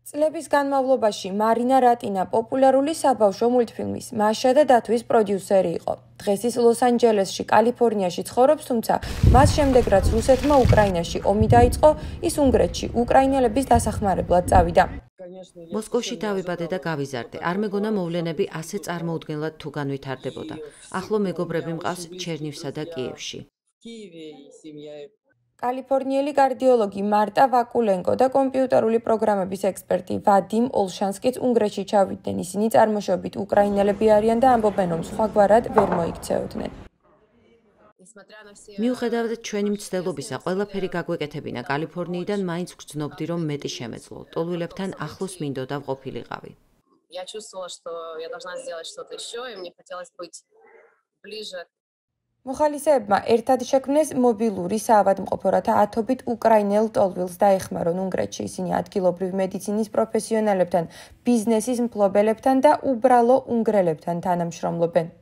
წლების განმავლობაში მარინა რატინა პოპულარული საბავშვო მულტფილმის „მაშა და დათვის“ პროდიუსერი იყო. დღეს ის ლოს-ანჯელესში, კალიფორნიაში ცხოვრობს, თუმცა მას შემდეგ რაც რუსეთმა უკრაინაში ომი დაიწყო, ის უნგრეთში უკრაინელების დასახმარებლად წავიდა. მოსკოვში დავიბადე და გავიზარდე. არ მეგონა მოვლენები ასე წარმოუდგენლად თუ განვითარდებოდა. ახლო მეგობრები მყავს ჩერნივსა და კიევში. კალიფორნიელი კარდიოლოგი მარტა ვაკულენკო და კომპიუტერული პროგრამების ექსპერტი ვადიმ ოლშანსკიც უნგრეთში ჩავიდნენ. ისინი წარმოშობით უკრაინელები არიან და ამბობენ, რომ სხვაგვარად ვერ მოიქცეოდნენ. მიუხედავად ჩვენი მცდელობისა, ყველაფერი გაგვეკეთებინა კალიფორნიიდან, მაინც ვგრძნობდი, რომ მეტი შემეძლო. ტოლვილებთან ახლოს მინდოდა ვყოფილიყავი. მოხალისეებმა ერთად შექმნეს მობილური საავადმყოფო, რათა ათობით უკრაინელ ტოლვილს დაეხმარონ უნგრეთში. ისინი ადგილობრივ მედიცინის პროფესიონალებთან, ბიზნესის მფლობელებთან და უბრალო უნგრელებთან თანამშრომლობენ.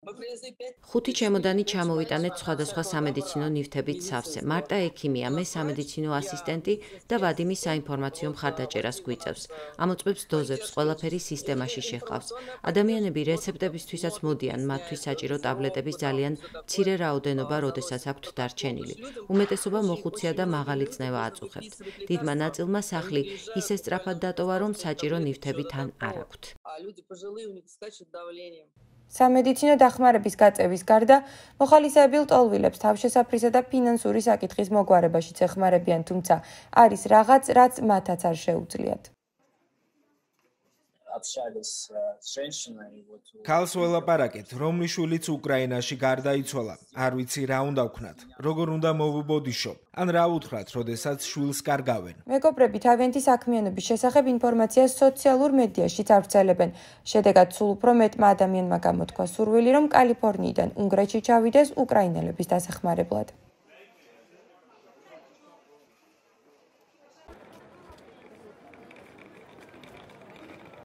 5 ჩემოდანი ჩამოვიტანეთ სხვადასხვა სამედიცინო ნივთებით სავსე. მარტა ექიმია, მე სამედიცინო ასისტენტი და ვადიმი საინფორმაციო მხარდაჭერას გვიწევს. ამოწმებს დოზებს, ყველაფერი სისტემაში შეჰყავს. ადამიანები რეცეპტებისთვისაც მოდიან, მათთვის საჭირო ტაბლეტების ძალიან მცირე რაოდენობა, როდესაც აქვთ დარჩენილი. უმეტესობა მოხუცია და მაღალი წნევა აწუხებთ. დიდმა ნაწილმა სახლი ისე სწრაფად დატოვა, რომ საჭირო ნივთები თან არ აქვთ. სამედიცინო დახმარების გაწევის გარდა, მოხალისეები ლტოლვილებს თავშესაფრისა და ფინანსური საკითხის მოგვარებაშიც ეხმარებიან, თუმცა არის რაღაც, რაც მათაც არ შეუძლიათ. ქალს ველაპარაკეთ, რომლის შვილიც უკრაინაში გარდაიცვალა. არ ვიცი რა უნდა ვქნათ, როგორ უნდა მოვუბოდიშო, ან რა უთხრათ, როდესაც შვილს კარგავენ. მეგობრები თავიანთი საქმიანობის შესახებ ინფორმაციას სოციალურ მედიაშიც ავრცელებენ. შედეგად სულ უფრო მეტმა ადამიანმა გამოთქვა სურვილი, რომ კალიფორნიიდან უნგრეთში ჩავიდეს უკრაინელების დასახმარებლად.